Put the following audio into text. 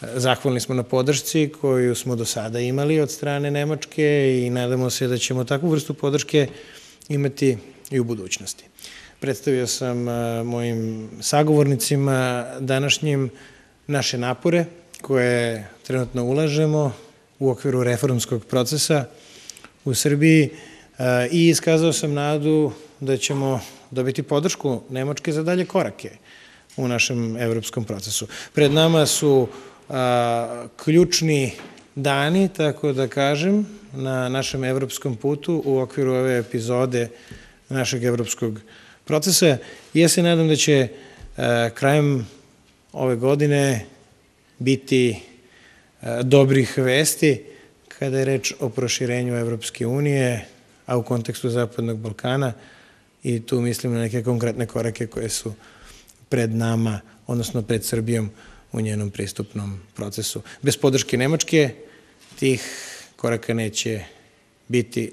Zahvalni smo na podršci koju smo do sada imali od strane Nemačke i nadamo se da ćemo takvu vrstu podrške imati i u budućnosti. Predstavio sam mojim sagovornicima današnjim naše napore koje trenutno ulažemo u okviru reformskog procesa u Srbiji i iskazao sam nadu da ćemo dobiti podršku Nemačke za dalje korake u našem evropskom procesu. Pred nama su ključni dani, tako da kažem, na našem evropskom putu u okviru ove epizode našeg evropskog procesa. Ja se nadam da će krajem ove godine biti dobrih vesti kada je reč o proširenju Evropske unije, a u kontekstu Zapadnog Balkana, i tu mislim na neke konkretne korake koje su pred nama, odnosno pred Srbijom u njenom pristupnom procesu. Bez podrške Nemačke tih koraka neće biti